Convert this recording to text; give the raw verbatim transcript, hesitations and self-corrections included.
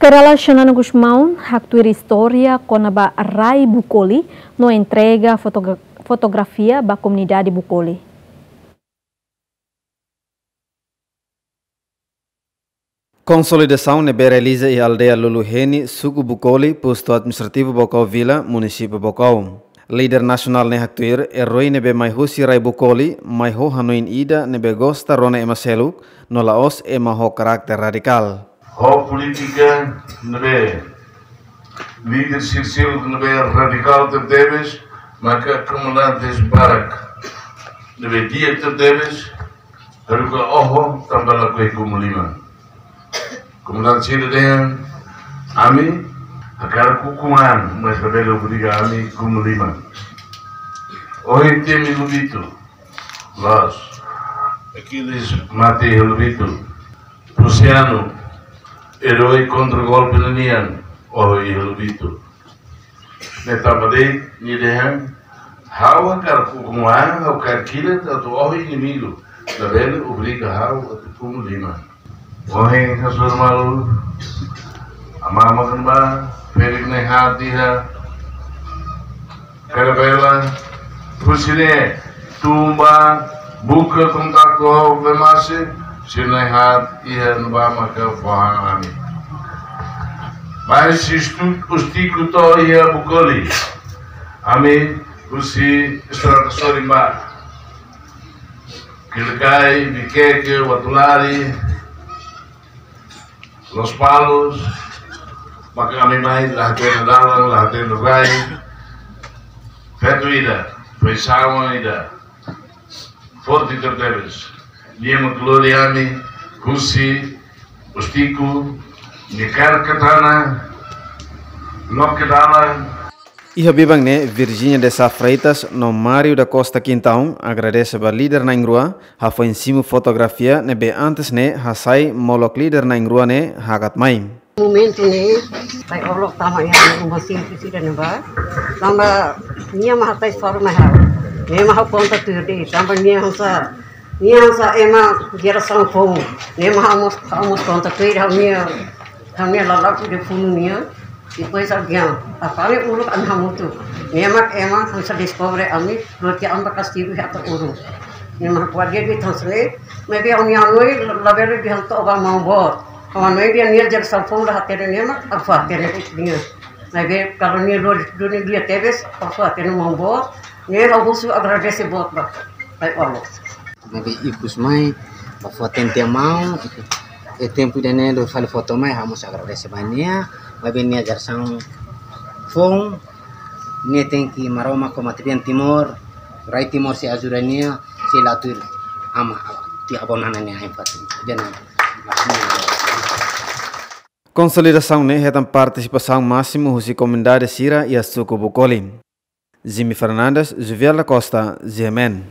Jenerál Xanana Gusmão haktuir istória kona-ba rai Bukoli no entrega fotogra-, fotografia ba komunidade Bukoli. Konsolidasaun ne'ebé realiza iha aldeia Lulu Heni, suku Bukoli, postu administrativu Baucau Vila, munisípiu Baucau. Líder nasionál ne'e haktuir, eroi ne'ebé mai husi rai Bukoli, mai ho hanoin ida ne'ebé gosta rona ema seluk, no la'ós ema ho karakter radikál. Ho polítika ne'ebé líder sira seluk ne'ebé radikál tebetebes, maka komandantes barak ne'ebé di'ak tebetebes, haruka oho tanba lakohi kumu liman. Komandante sira dehan, ami hakarak ukun an, mas labele obriga ami kumu liman. Ohin temi Lobito, loos. Aquiles mate iha Lobito. Prusianu, eroi kontra golpe ninian, ohin iha Lobito. Ne'e tanba de'it nia dehan, ha'u hakarak ukun an, ha'u hakarak kilat atu oho inimigu, labele obriga ha'u atu kumu liman. Ohin hasoru malu, amá-amá kona-ba, ferik ne'e haat iha Ferabela, husi ne'e tun ba buka kontaktu ho Vemase, sira ne'e haat iha ne'ebá maka fó han ami. Mai husi Ustico to'o iha Bukoli, ami husi estrada sorin ba Kilikai, Viqueque, Uatulari, Lospalos, maka ami mai la hatene dalan, la hatene rai. Feto ida, feisaun ida, forte tebetebes. Nia mak lori ami husi Ustico, nia kaer katana, loke dalan. Iha biban ne'e, Virginia de Sá Freitas no Mário da Costa Quintão agradese ba líder na'in-rua, hafoin simu fotografia ne'ebé antes ne'e hasai molok líder na'in-rua ne'e hakat mai. Momentu ne'e, ai olo tama iha uma simples ida ne'ebá. Tanba nia mak hatais forma ha'u. Nia mak ha'u konta tuir de'it. Tanba nia hanesan, nia hanesan ema jerasaun foun. Nia mak ha'u mós, ha'u mós konta tuir ha'u-nia, ha'u-nia lala'ok ida funu nia. Depois alguém, apa ami uluk ami hamutuk. Nia mak ema hanesan deskobre ami, lori ami ba kastigu iha atu uluk. Nia mak kuat dia di tansle, maibé ha'u-nia hanoin labele dehan to'o ba maun boot. Ha'u hanoin dehan nia jerasaun foun la hatene nia mak, ha'u fó hatene nia. Maibé kalau nia lori duni dia tebes, ha'u fó hatene maun boot. Ne'e ha'u husu agradese boot ba, ai olo. Maibé ikus mai, ba fó hatene tiha maun, iha tempu ida-ne'e lori fali foto mai, ha'u mós agradese ba nia, maibé nia jerasaun foun, nia tenke Maromak ho Matrian Timor, rai Timor sei ajuda nia, sei la tuir ama, tiha avó Nana nia ain-fatin. Ida-ne'e. Konsolidasaun ne'e hetan partisipasaun másimu husi komunidade sira iha suku Bukoli. Jimmy Fernandes, Juvial da Costa, G M N.